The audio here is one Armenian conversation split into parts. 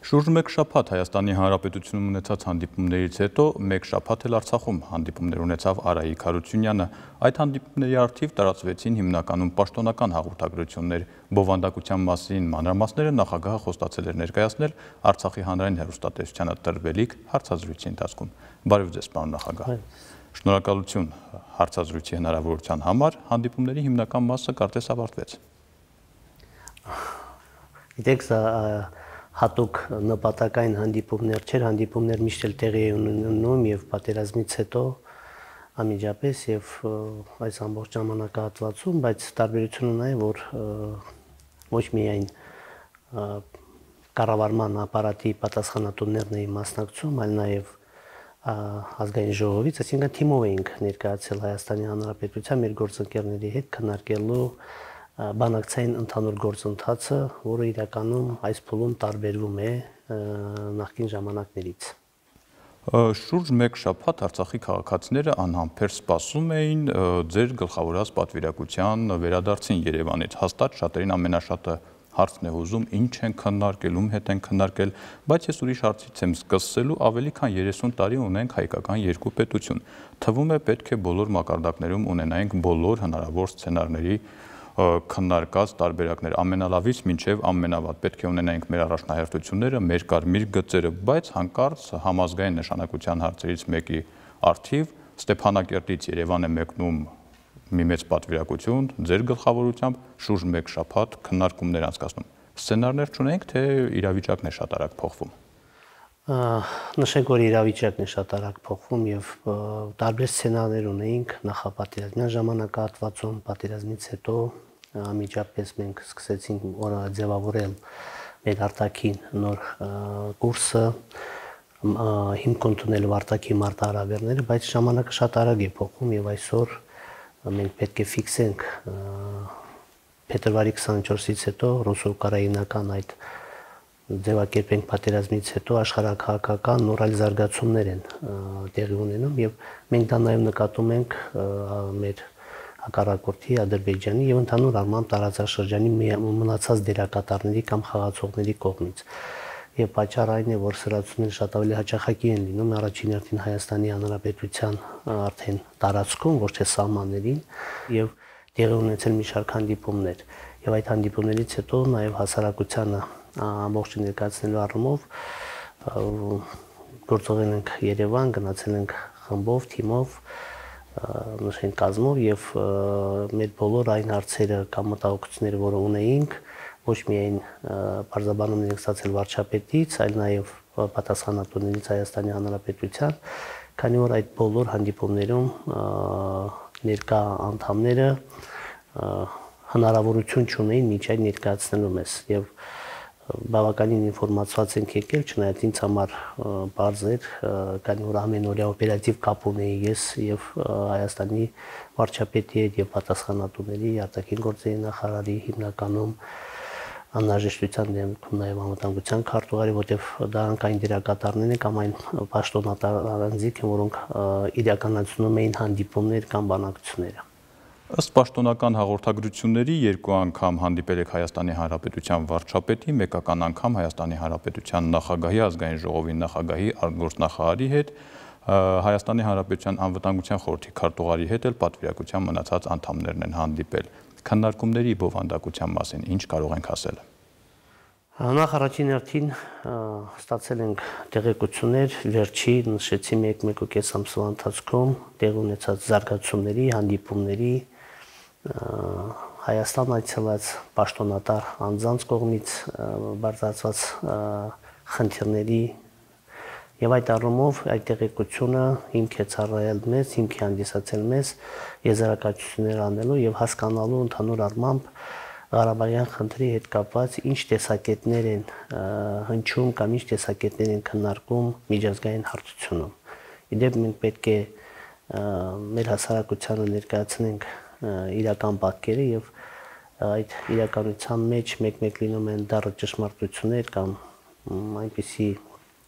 Շուրջ մեկ շաբաթ Հայաստանի Հանրապետությունում ունեցած հանդիպումներից հետո մեկ շաբաթ էլ Արցախում հանդիպումներ ունեցավ Արայիկ Հարությունյանը։ Այդ հանդիպումների առթիվ տարածվեցին հիմնականում պաշտոնական հաղորդագրություններ, բովանդակության մասին մանրամասները նախագահը խոստացել էր ներկայացնել Արցախի հանրային հեռուստատեսությանը տրվելիք հարցազրույցի ընթացքում։ Բարև ձեզ, պարոն նախագահ։ Շնորհակալություն հարցազրույցի հնարավորության համար, հանդիպումների հիմնական մասը կարծես ավարտվեց։ Գիտեք, հատուկ նպատակային հանդիպումներ չէր, հանդիպումներ միշտ էլ տեղի էին ունենում եւ պատերազմից հետո անմիջապես եւ այս ամբողջ ժամանակահատվածում, բայց տարբերությունը նա է, որ ոչ միայն կառավարման ապարատի պատասխանատուներն էին մասնակցում, այլ նաեւ ազգային ժողովից, այսինքն թիմով էինք ներկայացել Հայաստանի Հանրապետության մեր գործընկերների հետ քննարկելու բանակցային ընդհանուր գործընթացը, որը իրականում այս փուլում տարբերվում է նախկին ժամանակներից։ Շուրջ մեկ շաբաթ Արցախի քաղաքացիները անհամբեր սպասում էին ձեր գլխավորած պատվիրակության վերադարձին Երևանից։ Հաստատ շատերին ամենաշատը հարցն է հուզում, ինչ են քննարկել, ում հետ են քննարկել, բայց ես ուրիշ հարցից եմ սկսելու, ավելի քան 30 տարի ունենք հայկական երկու պետություն։ Թվում է պետք է բոլոր մակարդակներում ունենայինք բոլոր հնարավոր սցենարների քննարկած տարբերակներ, ամենալավից մինչև ամենավատ պետք է ունենայինք մեր առաջնահերթությունները, մեր կարմիր գծերը, բայց հանկարծ համազգային նշանակության հարցերից մեկի առթիվ Ստեփանակերտից Երևան է մեկնում մի մեծ պատվիրակություն, ձեր գլխավորությամբ շուրջ մեկ շաբաթ քննարկումներ անցկացնում։ Սցենարներ չունենք, թե իրավիճակն է շատ արագ փոխվում։ Նշենք, որ իրավիճակն է շատ արագ փոխվում եւ տարբեր սցենարներ ունեինք նախապատերազմյան ժամանակահատվածում, պատերազմից հետո անմիջապես մենք սկսեցինք ձևավորել մեր արտաքին նոր կուրսը, հիմք ընդունելու արտաքին մարտահրավերները, բայց ժամանակը շատ արագ է փոխվում եւ այսօր մենք պետք է ֆիքսենք փետրվարի 24-ից հետո ռուսո-ուկրաինական այդ ձևակերպենք պատերազմից հետո աշխարհակահաղական նոր այլ զարգացումներ են տեղի ունենում եւ մենք դա նաեւ նկատում ենք մեր հակառակորդի Ադրբեջանի եւ ընդհանուր առմամբ տարածաշրջանի մնացած դերակատարների կամ խաղացողների կողմից։ Եվ պատճառը այն է, որ սրացումները շատ ավելի հաճախակի են լինում առաջին հերթին Հայաստանի Հանրապետության արդեն տարածքում, ոչ թե սահմաններին, եւ տեղի ունեցել մի շարք հանդիպումներ։ Եվ այդ հանդիպումներից հետո նաեւ հասարակությանը ամբողջ ներկայացնելու առումով գործողել ենք Երևան, գնացել ենք խմբով, թիմով, նշենք կազմով եւ մեր բոլոր այն հարցերը կամ մտահոգությունները, որը ունեինք, ոչ միայն բարձրաբանումներ ենք ստացել վարչապետից, այլ նաեւ պատասխանատուներից Հայաստանի Հանրապետության, քանի որ այդ բոլոր հանդիպումներում ներկա անդամները հնարավորություն չունեին միջ այդ ներկայացնելու մեզ եւ բավականին ինֆորմացված ենք եկել, չնայած ինձ համար բարձ էր, քանի որ ամենօրյա օպերատիվ կապ ունեի ես եւ Հայաստանի վարչապետի հետ եւ պատասխանատուների, արտաքին գործերի նախարարի հիմնականում անհրաժեշտության դեպքում նաեւ անվտանգության քարտուղարի, որտեղ դրանք այն դերակատարներն են կամ այն պաշտոնատարանձիկ են, որոնք իրականացնում էին հանդիպումներ կամ բանակցությունները։ Ըստ պաշտոնական հաղորդագրությունների երկու անգամ հանդիպել եք Հայաստանի Հանրապետության վարչապետի, մեկական անգամ Հայաստանի Հանրապետության նախագահի, ազգային ժողովի նախագահի, արտգործնախարարի հետ, Հայաստանի Հանրապետության անվտանգության խորհրդի քարտուղարի հետ էլ պատվիրակության մնացած անդամներն են հանդիպել։ Քննարկումների բովանդակության մասին ինչ կարող ենք ասել։ Նախ առաջին հերթին ստացել ենք տեղեկություններ վերջի նշեցի 1-1.5 ամսվա ընթացքում տեղի ունեցած զարգացումների, հանդիպումների, Հայաստան այցելած պաշտոնատար անձանց կողմից բարձրացված խնդիրների եւ այդ առումով այդ տեղեկությունը հիմք է ծառայել մեզ, հիմք է հանդիսացել մեզ եզրակացություններ անելու եւ հասկանալու ընդհանուր առմամբ Ղարաբաղյան խնդրի հետ կապված ինչ տեսակետներ են հնչում կամ ինչ տեսակետներ են քննարկում միջազգային հարթությունում։ Իդեպ մենք պետք է մեր հասարակությանը ներկայացնենք իրական պատկերը եւ այդ իրականության մեջ մեկ-մեկ լինում են դառը ճշմարտություններ կամ այնպիսի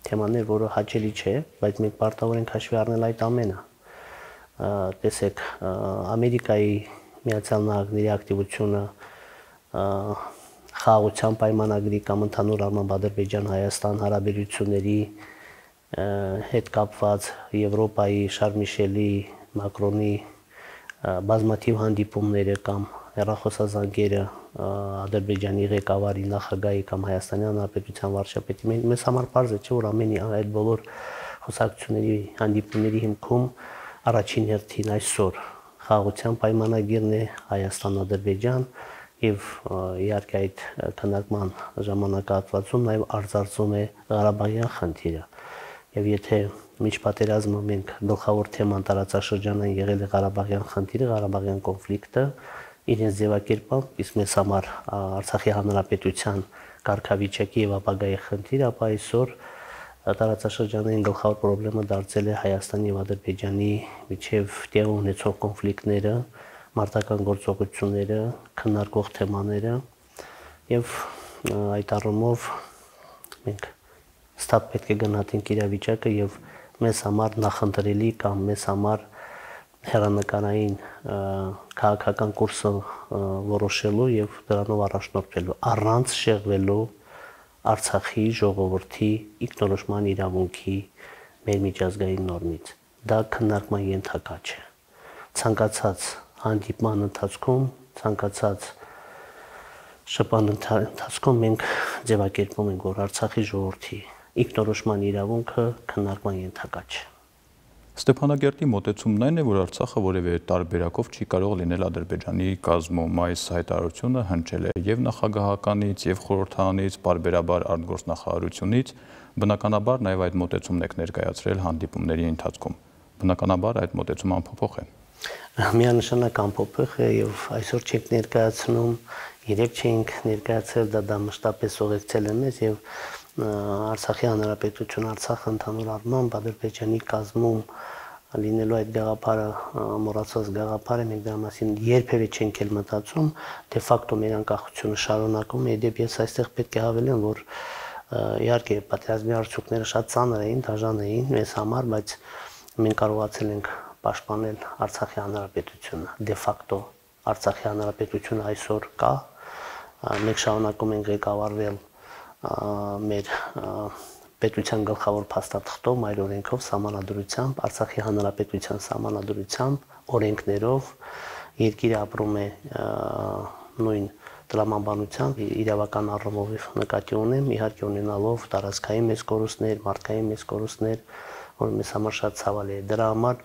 թեմաներ, որը հաճելի չէ, բայց մենք պարտավոր ենք հաշվի առնել այդ ամենը։ Տեսեք, Ամերիկայի Միացյալ Նահանգների ակտիվությունը խաղաղության պայմանագրի կամ ընդհանուր առմամբ Ադրբեջան-Հայաստան հարաբերությունների հետ կապված Եվրոպայի Շարլ Միշելի, Մակրոնի բազմաթիվ հանդիպումները կամ հեռախոսազանգերը Ադրբեջանի ղեկավարի, նախագահի կամ Հայաստանի Հանրապետության վարչապետի, մեզ համար պարզ է, որ ամեն այդ բոլոր խոսակցությունների, հանդիպումների հիմքում առաջին հերթին այսօր խաղաղության պայմանագիրն է Հայաստան-Ադրբեջան եւ իհարկե այդ քննարկման ժամանակահատվածում նաեւ արձարծում է Ղարաբաղյան խնդիրը։ Եվ եթե միջ պատերազմը մենք գլխավոր թեման տարածաշրջանային եղել է Ղարաբաղյան խնդիրը, Ղարաբաղյան կոնֆլիկտը իրենց ձևակերպամբ, իսկ մեզ համար Արցախի հանրապետության կարգավիճակի եւ ապագայի խնդիրը, ապա այսօր տարածաշրջանային գլխավոր խնդիրը դարձել է Հայաստանի եւ Ադրբեջանի միջև տեղի ունեցող կոնֆլիկտները, մարտական գործողությունները, քննարկող թեմաները եւ այդ առումով մենք ստապ պետք է գնահատենք իրավիճակը եւ մեզ համար նախընտրելի կամ մեզ համար հերանեկարային քաղաքական կուրսը որոշելու եւ դրանով առաջնորդվելու առանց շեղվելու Արցախի ժողովրդի ինքնորոշման իրավունքի մեր միջազգային նորմից։ Դա քննարկման ենթակա չէ։ Ցանկացած հանդիպման ընթացքում, ցանկացած շփման ընթացքում մենք ձևակերպում ենք, որ Արցախի ժողովրդի ինքնորոշման իրավունքը քննարկման ենթակա չէ։ Ստեփանագերտի մոտեցումն այն է, որ Արցախը որևէ տարբերակով չի կարող լինել Ադրբեջանի կազմում։ Այս հայտարարությունը հնչել է եւ նախագահականից, եւ խորհրդարանից, պարբերաբար արտգործնախարարությունից, բնականաբար նաեւ այդ մոտեցումն եք ներկայացրել հանդիպումների ընթացքում։ Բնականաբար այդ մոտեցումը անփոփոխ է։ Միանշանակ անփոփոխ է եւ այսօր չենք ներկայացնում, երեք չենք ներկայացրել, դա մշտապես ուղեկցել է մեզ եւ Արցախի հանրապետություն, Արցախը ընդհանուր առմամբ Ադրբեջանի կազմում լինելու այդ գաղափարը, մոռացված գաղափար է, մենք դրա մասին երբևէ չենք էլ մտածում, դե ֆակտո մեր անկախությունը շարունակում է, դեպ ես այստեղ պետք է հավելեմ, որ իհարկե պատերազմի արդյունքները շատ ծանր էին, դաժան էին մեզ համար, բայց մենք կարողացել ենք պաշտպանել Արցախի հանրապետությունը, դե ֆակտո Արցախի հանրապետությունը այսօր կա, մենք շարունակում ենք ղեկավարվել մեր պետության գլխավոր փաստաթղթով, մայր օրենքով, սահմանադրությամբ, Արցախի հանրապետության սահմանադրությամբ, օրենքներով, երկիրը ապրում է նույն տրամաբանությամբ, իրավական առումով նկատի ունեմ, իհարկե ունենալով տարածքային մեծ կորուստներ, մարդկային մեծ կորուստներ, որ մեզ համար շատ ցավալի է։ Դրա համար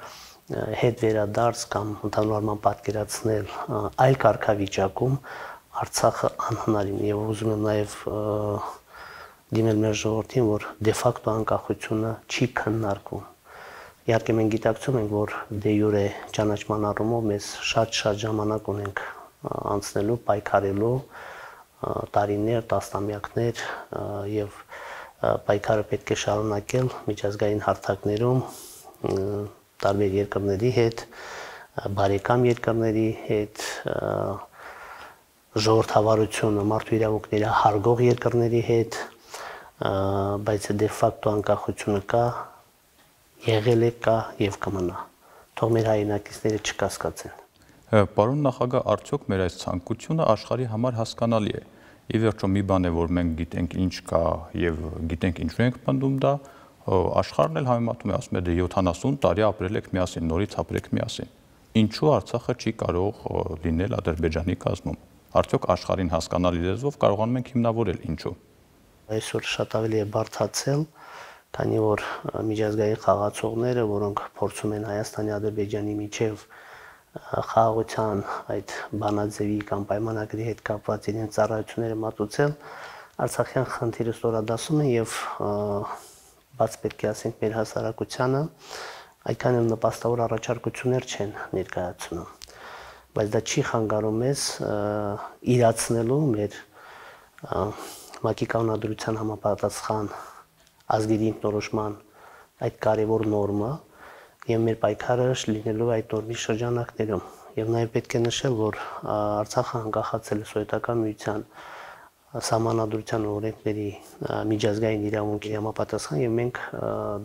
հետ վերադարձ կամ ընդհանուր առմամբ պատկերացնել այլ կարգավիճակում Արցախը անհնարին է եւ ուզում եմ նաեւ դիմել մեր ժողովրդին, որ դե ֆակտո անկախությունը չի քննարկվում։ Իհարկե մենք գիտակցում ենք, որ դե յուրե ճանաչման առումով մեզ շատ ժամանակ ունենք անցնելու, պայքարելու, տարիներ, տասնամյակներ եւ պայքարը պետք է շարունակել միջազգային հարթակներում տարբեր երկրների հետ, բարեկամ երկրների հետ, ժողովրդավարությունը, մարդու իրավունքների հարգող երկրների հետ, բայց դե ֆակտո անկախությունը կա, եղել է, կա եւ կմնա։ Թող մեր հայրենակիցները չկասկածեն։ Պարոն նախագահ, արդյոք մեր այս ցանկությունը աշխարհի համար հասկանալի է։ Ի վերջո մի բան է, որ մենք գիտենք ինչ կա եւ գիտենք ինչու ենք պնդում դա, աշխարհն էլ համեմատում է, ասում է դե 70 տարի ապրել եք միասին, նորից ապրեք միասին։ Ինչու Արցախը չի կարող լինել Ադրբեջանի կազմում։ Արդյոք աշխարհին հասկանալի լեզվով կարողանում ենք հիմնավորել ինչու։ Այսօր շատ ավելի է բարդացել, քանի որ միջազգային խաղացողները, որոնք փորձում են Հայաստանի, Ադրբեջանի միջև խաղաղության այդ բանաձևի կամ պայմանագրի հետ կապված իրենց ծառայությունները մատուցել, Արցախյան խնդիրը ստորադասում են եւ բաց պետք է ասենք մեր հասարակությանը այդքան էլ նպաստավոր առաջարկություններ չեն ներկայացնում, բայց դա չի խանգարում մեզ իրացնելու մեր ՄԱԿ-ի կանոնադրության համապատասխան ազգերի ինքնորոշման այդ կարևոր նորմը եւ մեր պայքարը լինելու այդ նորմի շրջանակներում եւ նաեւ պետք է նշել, որ Արցախը անկախացել է Սովետական միության սահմանադրության օրենքների միջազգային իրավունքի համապատասխան եւ մենք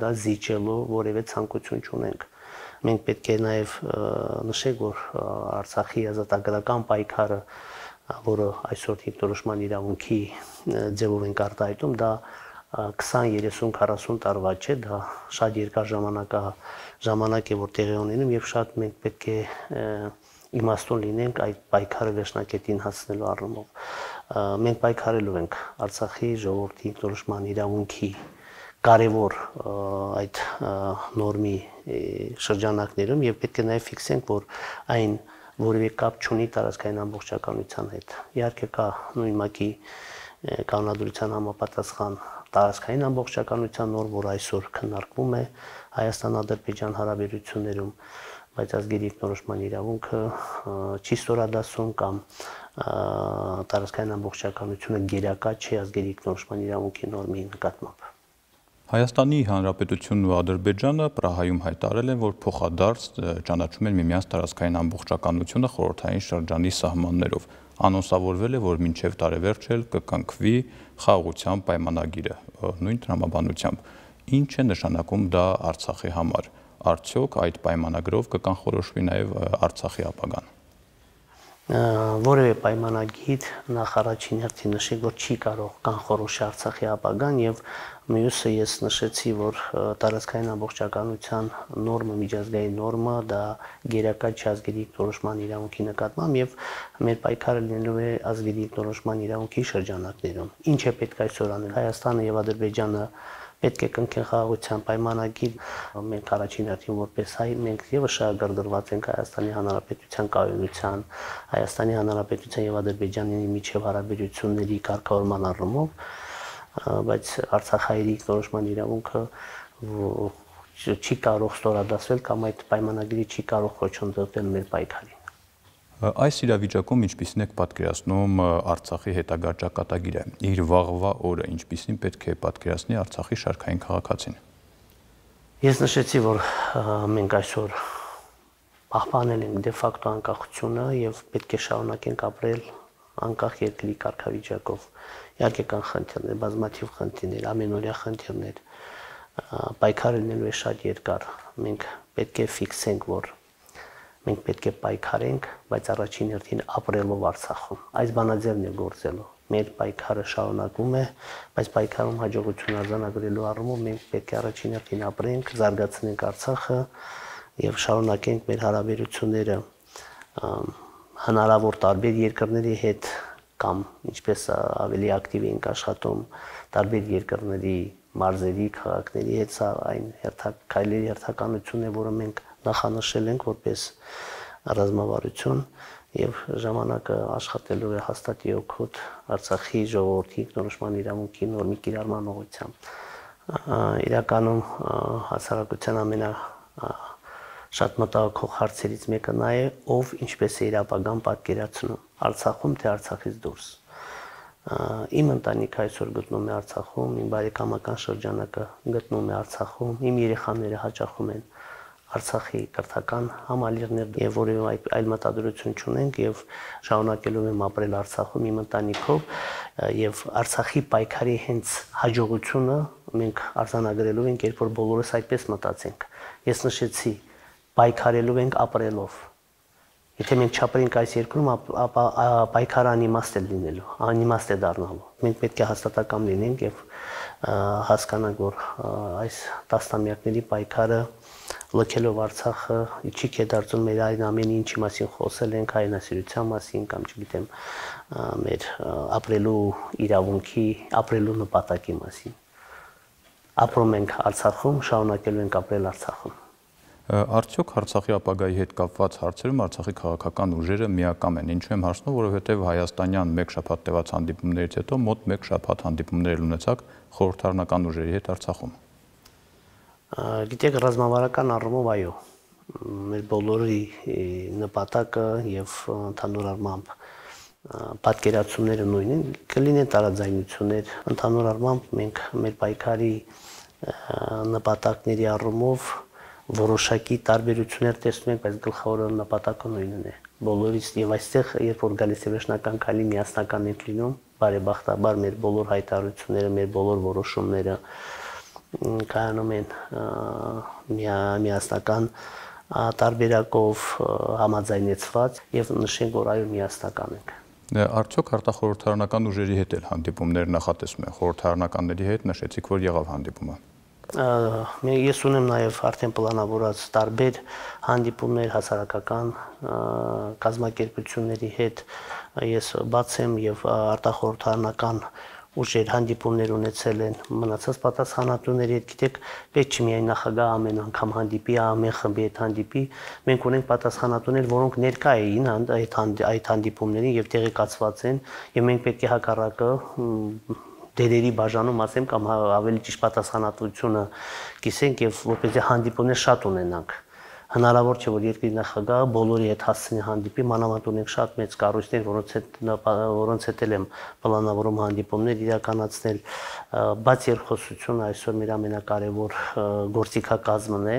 դա զիջելու որևէ ցանկություն չունենք։ Մենք պետք է նաեւ նշենք, որ Արցախի ազատագրական պայքարը որը այսօր ինքնորոշման իրավունքի ձևով ենք արտահայտում, դա 20-30-40 տարվա չէ, դա շատ երկար ժամանակ է, որ տեղի ունենում, եւ շատ մենք պետք է իմաստուն լինենք այդ պայքարը վերջնակետին հասնելու առումով։ Մենք պայքարելու ենք Արցախի ժողովրդի ինքնորոշման իրավունքի կարևոր այդ նորմի շրջանակներում եւ պետք է նաեւ ֆիքսենք, որ այն որևէ կապ չունի տարածքային ամբողջականության հետ։ Իհարկե կա նույն ՄԱԿ-ի կանոնադրության համապատասխան տարածքային ամբողջականության նորմ, որ այսօր քննարկվում է Հայաստան-Ադրբեջան հարաբերություններում, բայց ազգերի ինքնորոշման իրավունքը չի ստորադասում կամ տարածքային ամբողջականությունը գերակա չի ազգերի ինքնորոշման իրավունքի նորմի նկատմամբ։ Հայաստանի Հանրապետությունն ու Ադրբեջանը Պրահայում հայտարարել են, որ փոխադարձ ճանաչում են միմյանց տարածքային ամբողջականությունը խորհրդային շրջանի սահմաններով։ Անոնսավորվել է, որ մինչև տարեվերջ էլ կկնքվի խաղաղության պայմանագիրը նույն տրամաբանությամբ։ Ինչ է նշանակում դա Արցախի համար։ Արդյոք այդ պայմանագրով կկանխորոշվի նաև Արցախի ապագան։ Որևէ պայմանագիր նախ առաջին հերթին նշեք, որ չի կարող կանխորոշի Արցախի ապագան, եւ մյուսը ես նշեցի, որ տարածքային ամբողջականության նորմը, միջազգային նորմը դա գերակա չի ազգերի ինքնորոշման իրավունքի նկատմամբ եւ մեր պայքարը լինելու է ազգերի ինքնորոշման իրավունքի շրջանակներում։ Ինչ է պետք այսօր անել։ Հայաստանը եւ Ադրբեջանը պետք է կնքեն խաղաղության պայմանագիր։ Մենք առաջին հերթին որպես հայ մենք եւս շահագրգռված ենք Հայաստանի Հանրապետության կայունության, Հայաստանի Հանրապետության եւ Ադրբեջանի միջև հարաբերությունների կարգավորման առումով, բայց Արցախի ինքնորոշման իրավունքը չի կարող ստորադասվել կամ այդ պայմանագրի չի կարող խոչընդոտել մեր պայքարին։ Այս իրավիճակում ինչպիսին եք պատկերացնում Արցախի հետագա ճակատագիրը, իր վաղվա օրը ինչպիսին պետք է պատկերացնի Արցախի շարքային քաղաքացին։ Ես նշեցի, որ մենք այսօր պահպանել ենք դե ֆակտո անկախությունը եւ պետք է շարունակենք ապրել անկախ երկրի կարգավիճակով։ Իհարկե կան խնդիրներ, բազմաթիվ խնդիրներ, ամենօրյա խնդիրներ, պայքարը լինելու է շատ երկար։ Մենք պետք է ֆիքսենք, որ մենք պետք է պայքարենք, բայց առաջին հերթին ապրելով Արցախում։ Այս բանաձևն է գործելու։ Մեր պայքարը շարունակվում է, բայց պայքարում հաջողություն արձանագրելու առումով մենք պետք է առաջին հերթին ապրենք, զարգացնենք Արցախը եւ շարունակենք մեր հարաբերությունները հնարավոր տարբեր երկրների հետ կամ ինչպես ավելի ակտիվ ենք աշխատում տարբեր երկրների մարզերի, քաղաքների հետ, սա այն քայլերի հերթականությունն է, որը մենք նախանշել ենք որպես ռազմավարություն եւ ժամանակը աշխատելու է հաստատի օգուտ Արցախի ժողովրդի ինքնորոշման իրավունքի նորմի կիրառման ուղղությամբ։ Իրականում հասարակության շատ մտահոգող հարցերից մեկը նա է, ով ինչպես է իր ապագան պատկերացնում Արցախում թե Արցախից դուրս։ Իմ ընտանիքը այսօր գտնվում է Արցախում, իմ բարեկամական շրջանակը գտնվում է Արցախում, իմ երեխաները հաճախում են Արցախի կրթական համալիրներ եւ որևէ այլ մտադրություն չունենք եւ շարունակելու եմ ապրել Արցախում իմ ընտանիքով եւ Արցախի պայքարի հենց հաջողությունը մենք արձանագրելու ենք, երբ որ բոլորս այդպես մտածենք։ Ես նշեցի, պայքարելու ենք ապրելով։ Եթե մենք չապրենք այս երկրում, ապա պայքարը անիմաստ է լինելու, անիմաստ է դառնալու։ Մենք պետք է հաստատակամ լինենք եւ հասկանանք, որ այս տասնամյակների պայքարը լքելով Արցախը չի կետարծում մեր այն ամեն ինչի մասին խոսել ենք, հայրենասիրության մասին կամ չգիտեմ մեր ապրելու իրավունքի, ապրելու նպատակի մասին։ Ապրում ենք Արցախում, շարունակելու ենք ապրել Արցախում։ Արդյոք Արցախի ապագայի հետ կապված հարցերում Արցախի քաղաքական ուժերը միակամ են։ Ինչու եմ հարցնում, որովհետև հայաստանյան մեկ շաբաթ տևած հանդիպումներից հետո մոտ մեկ շաբաթ հանդիպումներ ունեցաք խորհրդարանական ուժերի հետ Արցախում։ Գիտեք, ռազմավարական առումով այո, մեր բոլորի նպատակը եւ ընդհանուր առմամբ պատկերացումները նույնն են, կլինեն տարաձայնություններ, ընդհանուր առմամբ մենք մեր պայքարի նպատակների առումով որոշակի տարբերություններ տեսնում ենք, բայց գլխավոր նպատակը նույնն է։ Բոլորից եւ այստեղ, երբ որ գալիս է վերջնական քայլի, միասնական ենք լինում, բարեբախտաբար մեր բոլոր հայտարարությունները, մեր բոլոր որոշումները կայանում են միասնական տարբերակով համաձայնեցված եւ նշենք, որ այո միասնական ենք։ Արդյոք արտախորհրդարանական ուժերի հետ էլ հանդիպումներ նախատեսում են, խորհրդարանականների հետ նշեցիք, որ եղավ հանդիպումը։ Ես ունեմ նաև արդեն պլանավորած տարբեր հանդիպումներ հասարակական կազմակերպությունների հետ, ես բաց եմ եւ արտախորհրդարանական ուժեր հանդիպումներ ունեցել են մնացած պատասխանատուների հետ, գիտեք, պետք չի միայն նախագահ ամեն անգամ հանդիպի, ամեն խմբի հետ հանդիպի, մենք ունենք պատասխանատուներ, որոնք ներկա էին այդ հանդիպումներին եւ տեղեկացված են, եւ մենք պետք է հակառակը դերերի բաժանում ասեմ կամ ավելի ճիշտ պատասխանատվությունը կիսենք եւ որպեսզի հանդիպումներ շատ ունենանք։ Հնարավոր չէ, որ երկրի նախագահը բոլորի հետ հասցնի հանդիպի, մանավանդ ունենք շատ մեծ կառույցներ, որոնց հետ եմ պլանավորում հանդիպումներ իրականացնել, բայց երկխոսությունը այսօր մեր ամենակարևոր գործիքակազմն է,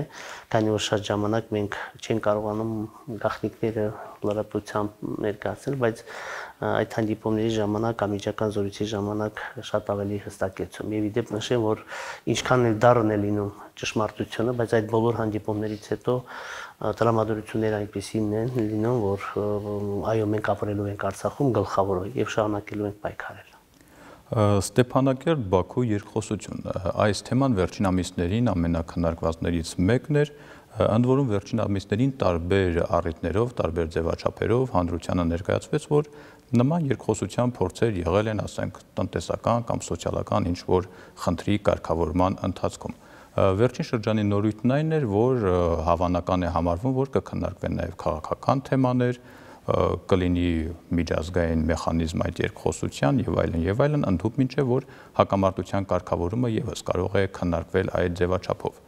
քանի որ շատ ժամանակ մենք չենք կարողանում գաղտնիքները լրատվությամբ ներկայացնել, բայց այդ հանդիպումների ժամանակ, անմիջական զորույցի ժամանակ շատ ավելի հստակեցում։ Եվ իդեպ նշեմ, որ ինչքան էլ դառն է լինում ճշմարտությունը, բայց այդ բոլոր հանդիպումներից հետո տրամադրությունները այնպեսին են լինում, որ այո, մենք ապրելու ենք Արցախում գլխավոր եւ շարունակելու ենք պայքարել։ Ստեփանակերտ Բաքու երկխոսություն։ Այս թեման վերջին ամիսներին ամենակնարկվածներից մեկն էր, ընդ որում վերջին ամիսներին տարբեր առիթներով, տարբեր ձևաչափերով հանրությանը ներկայացվեց, որ նման երկխոսության փորձեր եղել են, ասենք, տնտեսական կամ սոցիալական ինչ-որ խնդրի կարգավորման ընթացքում։ Վերջին շրջանի նորույթն այն էր, որ հավանական է համարվում, որ կքննարկվեն նաև քաղաքական թեմաներ, կլինի միջազգային մեխանիզմ այդ երկխոսության եւ այլն, ընդհուպ մինչեւ որ հակամարտության կարգավորումը եւս կարող է քննարկվել այդ ձևաչափով։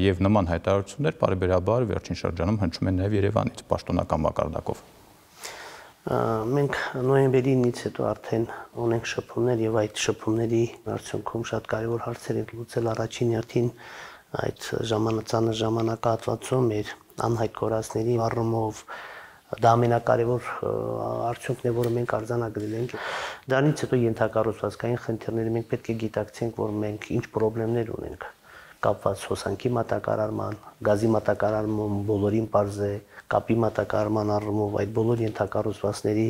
Եվ նման հայտարարություններ բարեբերաբար վերջին շրջանում հնչում են նաև Երևանից պաշտոնական մակարդակով։ Մենք նոյեմբերի 9-ից հետո արդեն ունենք շփումներ եւ այդ շփումների արդյունքում շատ կարեւոր հարցեր ենք լուծել առաջին հերթին այդ ժամանակահատվածում մեր անհայտ կորածների առումով դա ամենակարևոր արդյունքն է, որը մենք արձանագրել ենք։ Դրանից հետո ենթակառուցվածքային խնդիրները մենք պետք է գիտակցենք, որ մենք ինչ խնդիրներ ունենք կապված հոսանքի մատակարարման, գազի մատակարարման բոլորին պարզ է, կապի մատակարարման առումով այդ բոլոր ենթակառուցվածքների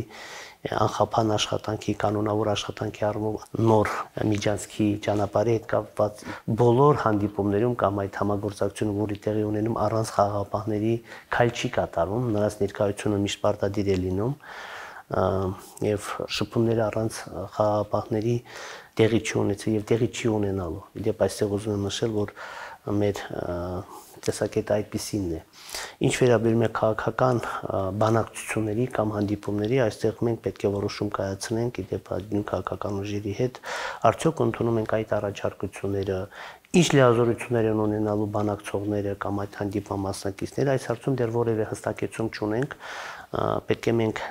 անխափան աշխատանքի, կանոնավոր աշխատանքի առումով նոր միջանցքի ճանապարհի հետ կապված բոլոր հանդիպումներում կամ այդ համագործակցությունը, որի տեղի ունենում առանց խաղաղապահների քայլ չի կատարվում, նրանց ներկայությունը միշտ պարտադիր է լինում եւ շփումները առանց խաղաղապահների տեղի չի ունեցել եւ տեղի չի ունենալու։ Իդեպ այստեղ ուզում եմ նշել, որ մեր տեսակետը այդպիսինն է։ Ինչ վերաբերում է քաղաքական բանակցությունների կամ հանդիպումների, այստեղ մենք պետք է որոշում կայացնենք իդեպ նույն քաղաքական ուժերի հետ, արդյոք ընդունում ենք այդ առաջարկությունները, ինչ լիազորություններ են ունենալու բանակցողները կամ այդ հանդիպման մասնակիցները, այս հարցում դեռ որևէ հստակեցում չունենք, պետք է մենք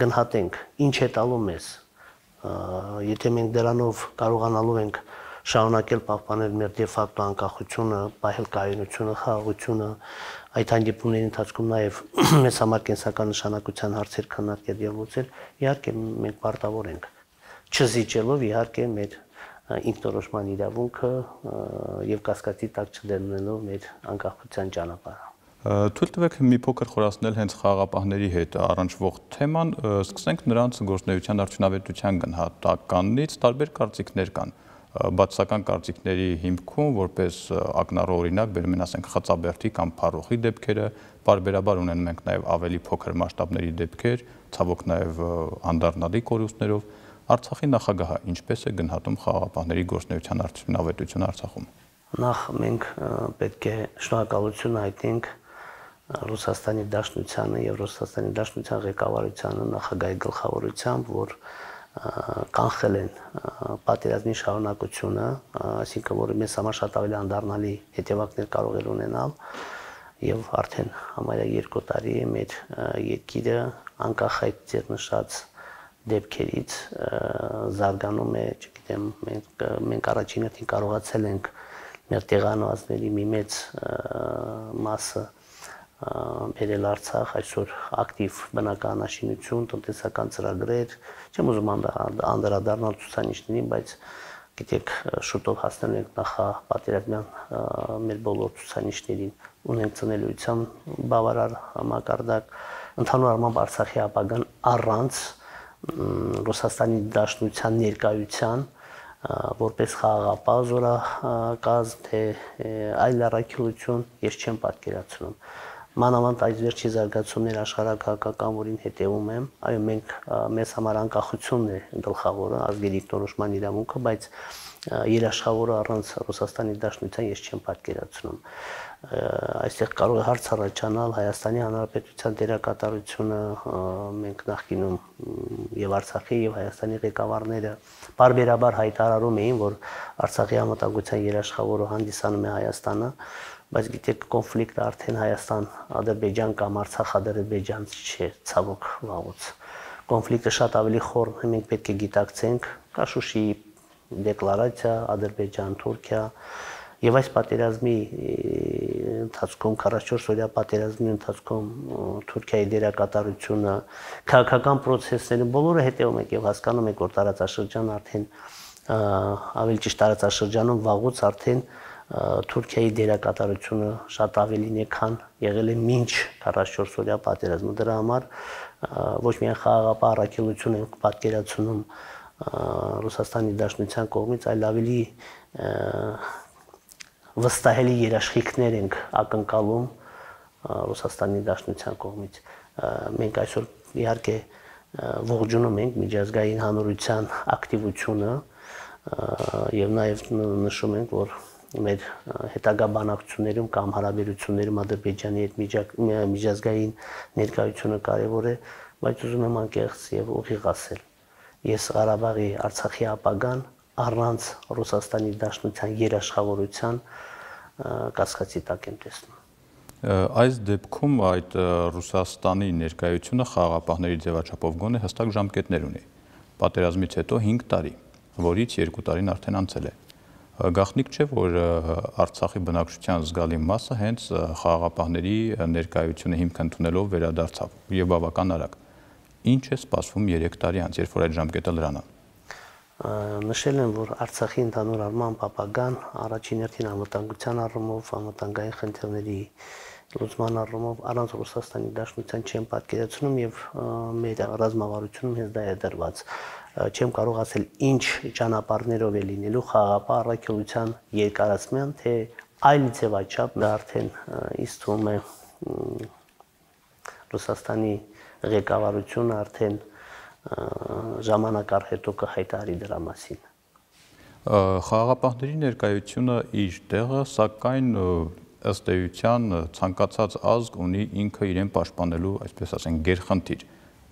գնահատենք ինչ է տալու մեզ։ Եթե մենք դրանով կարողանալու ենք շարունակել պահպանել մեր դե ֆակտո անկախությունը, պահել կայունությունը, խաղաղությունը, այդ հանդիպումների ընթացքում նաև մեզ համար կենսական նշանակության հարցեր քննարկել եւ լուծել, իհարկե մենք պարտավոր ենք, չզիջելով իհարկե մեր ինքնորոշման իրավունքը եւ կասկածի տակ չդնելով մեր անկախության ճանապարհը։ Թույլ տվեք մի փոքր խորացնել հենց խաղաղապահների հետ առնչվող թեման, սկսենք նրանց գործունեության արդյունավետության գնահատականից, տարբեր կարծիքներ կան։ Բացասական կարծիքների հիմքում որպես ակնառու օրինակ բերում են, ասենք, Խծաբերդի կամ Փարոխի դեպքերը, բարբերաբար ունենում ենք նաև ավելի փոքր մասշտաբների դեպքեր, ցավոք նաև անդառնալի կորուստներով։ Արցախի նախագահը ինչպես է գնահատում խաղաղապահների գործունեության արդյունավետությունը Արցախում։ Նախ մենք պետք է շնորհակալություն հայտնենք Ռուսաստանի Դաշնությանը եւ Ռուսաստանի Դաշնության ղեկավարությանը նախագահի գլխավորությամբ, որ կանխել են պատերազմի շարունակությունը, այսինքն որ մեզ համար շատ ավելի անդառնալի հետևանքներ կարող էր ունենալ եւ արդեն համարյա 2 տարի է մեր երկիրը անկախ այդ ձեռնշած դեպքերից զարգանում է, չգիտեմ, մենք առաջին հերթին կարողացել ենք մեր տեղանվածների մի մեծ մասը բերել Արցախ, այսօր ակտիվ բնակարանաշինություն, տնտեսական ծրագրեր, չեմ ուզում անդրադառնալ ցուցանիշներին, բայց գիտեք, շուտով հասնելու ենք նախապատերազմյան մեր բոլոր ցուցանիշներին, ունենք ծնելիության բավարար համակարգ, ընդհանուր առմամբ Արցախի ապագան առանց Ռուսաստանի Դաշնության ներկայության որպես խաղաղապահ զորակազմ, թե այլ առաքելություն ես չեմ պատկերացնում։ Մանավանդ այս վերջի զարգացումներ աշխարհակահաղական, որին հետևում եմ, այո, մեզ համար անկախությունն է գլխավորը, ազգի դիրքորոշման իրավունքը, բայց երաշխավորը առանց Ռուսաստանի Դաշնության ես չեմ պատկերացնում։ Այստեղ կարող է հարց առաջանալ Հայաստանի Հանրապետության դերակատարությունը, մենք նախկինում եւ Արցախի եւ Հայաստանի ղեկավարները բարբերաբար հայտարարում էին, որ Արցախի անվտանգության երաշխավորը հանդիսանում է Հայաստանը, բայց գիտեք, կոնֆլիկտը արդեն Հայաստան-Ադրբեջան կամ Արցախ-Ադրբեջան չէ, ցավոք վաղուց։ Կոնֆլիկտը շատ ավելի խորն է, մենք պետք է գիտակցենք, կա Շուշիի դեկլարացիա, Ադրբեջան, Թուրքիա, եւ այս պատերազմի ընթացքում 44-օրյա պատերազմի ընթացքում Թուրքիայի դերակատարությունը, քաղաքական process-ները բոլորը հետևում եք եւ հասկանում եք, որ տարածաշրջանը արդեն ավելի ճիշտ տարածաշրջանում վաղուց արդեն Թուրքիայի դերակատարությունը շատ ավելին է, քան եղել է մինչ 44-օրյա պատերազմը։ Դրա համար ոչ միայն խաղաղապահ առաքելություն ենք պատկերացնում Ռուսաստանի Դաշնության կողմից, այլ ավելի վստահելի երաշխիքներ ենք ակնկալում Ռուսաստանի Դաշնության կողմից։ Մենք այսօր իհարկե ողջունում ենք միջազգային հանրության ակտիվությունը եւ նաեւ նշում ենք, որ մեր հետագա բանակցություններում կամ հարաբերություններում Ադրբեջանի հետ միջազգային ներկայությունը կարևոր է, բայց ուզում եմ անկեղծ եւ ուղիղ ասել։ Ես Ղարաբաղի Արցախի ապագան առանց Ռուսաստանի Դաշնության երաշխավորության կասկածի տակ եմ տեսնում։ Այս դեպքում այդ Ռուսաստանի ներկայությունը խաղաղապահների ձևաչափով գոնե հստակ ժամկետներ ունի։ Պատերազմից հետո 5 տարի, որից 2 տարին արդեն անցել է։ Գաղտնիք չէ, որ Արցախի բնակչության զգալի մասը հենց խաղաղապահների ներկայությունը հիմք ընդունելով վերադարձավ եւ բավական արագ։ Ինչ է սպասվում 3 տարի անց, երբ որ այդ ժամկետը լրան է։ Նշել եմ, որ Արցախի ընդհանուր առմամբ ապագան առաջին հերթին անվտանգության առումով, անվտանգային խնդիրների լուծման առումով առանց Ռուսաստանի Դաշնության չեմ պատկերացնում եւ մեր ռազմավարությունում հենց դա է դրված։ Չեմ կարող ասել ինչ ճանապարհներով է լինելու խաղաղապահ առաքելության երկարացման, թե այլ ձևաչափ, դա արդեն ինձ թվում է Ռուսաստանի ղեկավարությունը արդեն ժամանակ առ հետո կհայտարարի դրա մասին։ Խաղաղապահների ներկայությունը իր տեղը, սակայն ըստ էության ցանկացած ազգ ունի ինքը իրեն պաշտպանելու, այսպես ասենք, գերխնդիր,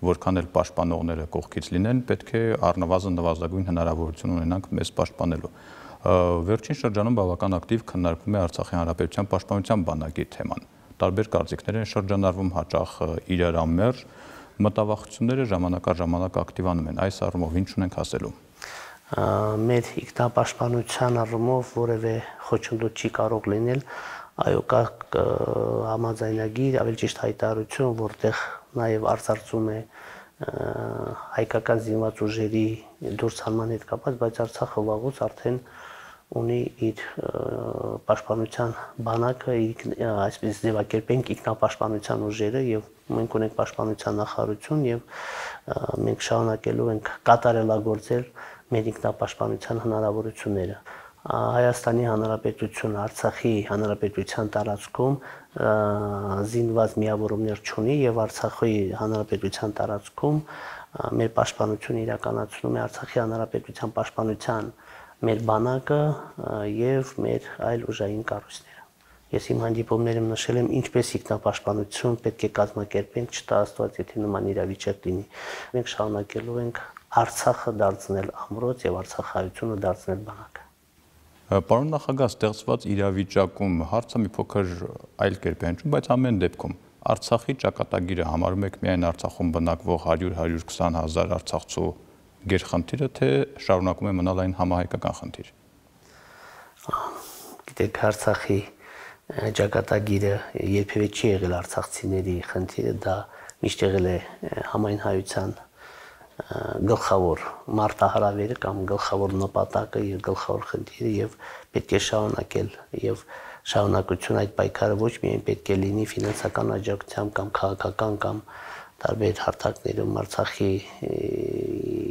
որքան էլ պաշտպանողները կողքից լինեն, պետք է առնվազն նվազագույն հնարավորություն ունենանք մեզ պաշտպանելու։ Վերջին շրջանում բավական ակտիվ քննարկվում է Արցախի Հանրապետության պաշտպանության բանակի թեման։ Տարբեր կարծիքներ են շրջանառվում, հաճախ իրարամերժ, մտավախությունները ժամանակ առ ժամանակ ակտիվանում են։ Այս առումով ինչ ունենք ասելու։ Մեր ինքնապաշտպանության առումով որևէ խոչընդոտ չի կարող լինել, այո, կա համաձայնագիր, ավելի ճիշտ հայտարարություն, որտեղ նաև արծարծում է հայկական զինված ուժերի դուրսանման հետ կապված, բայց Արցախը վաղուց արդեն ունի իր պաշտպանության բանակը, այսպես ձևակերպենք ինքնապաշտպանության ուժերը եւ մենք ունենք պաշտպանության նախարարություն եւ մենք շարունակելու ենք կատարելագործել մեր ինքնապաշտպանության հնարավորությունները։ Հայաստանի Հանրապետությունը Արցախի Հանրապետության տարածքում զինված միավորումներ չունի եւ Արցախի Հանրապետության տարածքում մեր պաշտպանությունը իրականացնում է Արցախի Հանրապետության պաշտպանության մեր բանակը եւ մեր այլ ուժային կառույցները։ Ես իմ հանդիպումներում նշել եմ ինչպես ինքնապաշտպանություն պետք է կազմակերպենք, չտա Աստված, եթե նման իրավիճակ լինի։ Մենք շարունակելու ենք Արցախը դարձնել ամրոց եւ Արցախայությունը դարձնել բանակ։ Պարոն նախագահ, ստեղծված իրավիճակում հարցը մի փոքր այլ կերպ է հնչում, բայց ամեն դեպքում Արցախի ճակատագիրը համարում եք միայն Արցախում բնակվող 100-120 հազար արցախցու գերխնդիրը, թե շարունակում է մնալ այն համահայկական խնդիր։ Գիտեք, Արցախի ճակատագիրը երբևէ չի եղել արցախցիների խնդիրը, դա միշտ եղել է համայն հայության գլխավոր մարտահրավերը կամ գլխավոր նպատակը եւ գլխավոր խնդիրը եւ պետք է շարունակել եւ շարունակություն այդ պայքարը ոչ միայն պետք է լինի ֆինանսական աջակցությամբ կամ քաղաքական կամ տարբեր հարթակներում Արցախի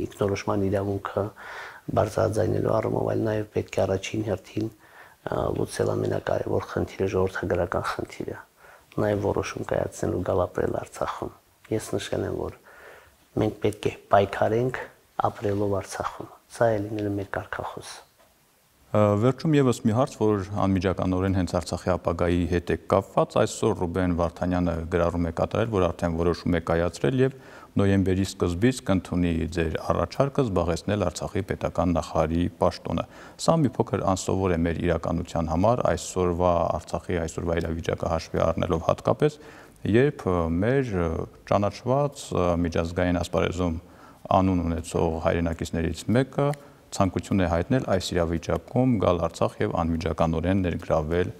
ինքնորոշման իրավունքը բարձրաձայնելու առումով, այլ նաև պետք է առաջին հերթին լուծել ամենակարևոր խնդիրը, ժողովրդագրական խնդիրը, նաև որոշում կայացնելու գալ ապրել Արցախում։ Ես նշել եմ, որ մենք պետք է պայքարենք ապրելով Արցախում։ Սա է լինելու մեր կարգախոսը։ Վերջում եւս մի հարց, որ անմիջականորեն հենց Արցախի ապագայի հետ է կապված, այսօր Ռուբեն Վարդանյանը գրառում է կատարել, որ արդեն որոշում է կայացրել եւ նոյեմբերի սկզբից կընդունի ձեր առաջարկը զբաղեցնել Արցախի պետական նախարարի պաշտոնը։ Սա մի փոքր անսովոր է մեր իրականության համար, այսօրվա Արցախի այսօրվա իրավիճակը հաշվի առնելով հատկապես, երբ մեր ճանաչված միջազգային ասպարեզում անուն ունեցող հայրենակիցներից մեկը ցանկություն է հայտնել այս իրավիճակում գալ Արցախ եւ անմիջականորեն ներգրավել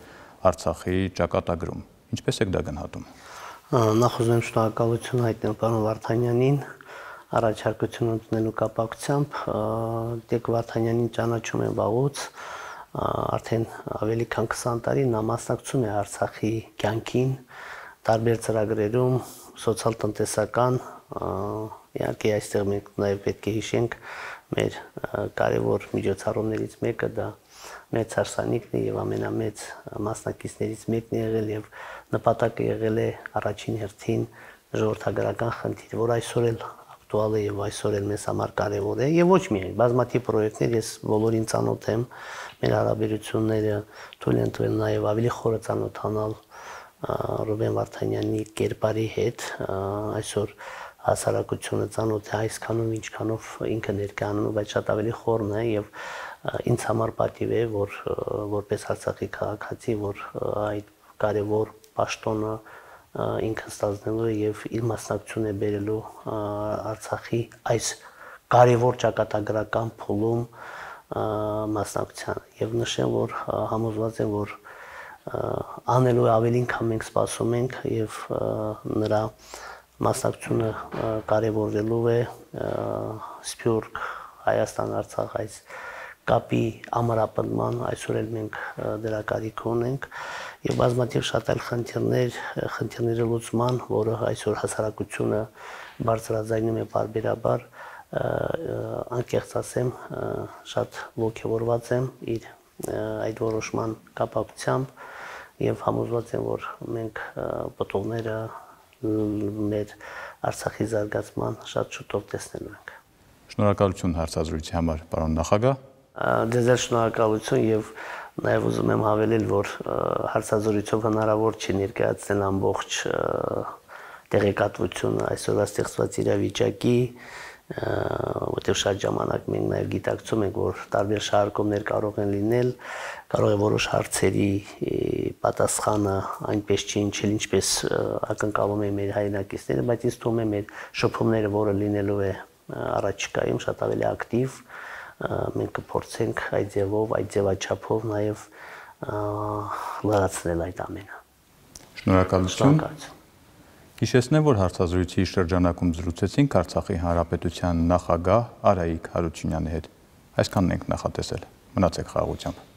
Արցախի ճակատագրում։ Ինչպես եք դա գնահատում։ Նախ ուզում եմ շնորհակալություն հայտնել պարոն Վարդանյանին առաջարկություն ընդունելու կապակցությամբ։ Տեկ Վարդանյանին ճանաչում եմ վաղուց, արդեն ավելի քան 20 տարի նա մասնակցում է Արցախի կյանքին, տարբեր ծրագրերում, սոցիալ-տնտեսական, իհարկե այստեղ մենք նաև պետք է հիշենք մեր կարևոր միջոցառումներից մեկը դա մեծ հարսանիքն է եւ ամենամեծ մասնակիցներից մեկն է եղել եւ նպատակը եղել է առաջին հերթին ժողովրդագրական խնդիր, որ այսօր էլ ակտուալ է եւ այսօր էլ մեզ համար կարևոր է եւ ոչ միայն բազմաթիվ պրոյեկտներ ես բոլորին ծանոթ եմ, մեր հարաբերությունները թույլ են տվել նաեւ ավելի խորը ծանոթանալ Ռուբեն Վարդանյանի կերպարի հետ, այսօր հասարակությունը ծանոթ է այսքանով ինչքանով ինքը ներկայանում, բայց շատ ավելի խորն է եւ ինձ համար պատիվ է, որ որպես Արցախի քաղաքացի, որ այդ կարևոր պաշտոնը ինքը ստանձնելու եւ իր մասնակցություն է բերելու Արցախի այս կարևոր ճակատագրական փուլում մասնակցության եւ նշեմ, որ համոզված եմ, որ անելու ավելին, քան մենք սպասում ենք եւ նրա մասնակցությունը կարևորվելու է Սփյուռք, Հայաստան, Արցախ այս կապի ամրապնդման, այսօր էլ մենք դրա կարիք ունենք եւ բազմաթիվ շատ այլ խնդիրների լուծման, որը այսօր հասարակությունը բարձրաձայնում է պարբերաբար, անկեղծ ասեմ, շատ ողջավորված եմ իր այդ որոշման կապակցությամբ եւ համոզված եմ, որ մենք պտուղները մեր Արցախի զարգացման շատ շուտով տեսնելու ենք։ Շնորհակալություն հարցազրույցի համար, պարոն նախագահ։ Ձեզ էլ շնորհակալություն եւ նաեւ ուզում եմ հավելել, որ հարցազրույցով հնարավոր չի ներկայացնել ամբողջ տեղեկատվությունը այսօրվա ստեղծված իրավիճակի, որտեղ շատ ժամանակ մենք նաև գիտակցում ենք, որ տարբեր շարժումներ կարող են լինել, կարող է որոշ հարցերի պատասխանը այնպես չի ինչել, ինչպես ակնկալում են մեր հայրենակիցները, բայց ինձ թվում է մեր շփումները, որը լինելու է առաջիկայում շատ ավելի ակտիվ, մենք կփորձենք այդ ձևով, այդ ձևաչափով նաև լրացնել այդ ամենը։ Շնորհակալություն։ Հիշեցնեմ, որ հարցազրույցի շրջանակում զրուցեցինք Արցախի Հանրապետության նախագահ Արայիկ Հարությունյանի հետ։ Այսքանն ենք նախատեսել։ Մնացեք խաղաղությամբ։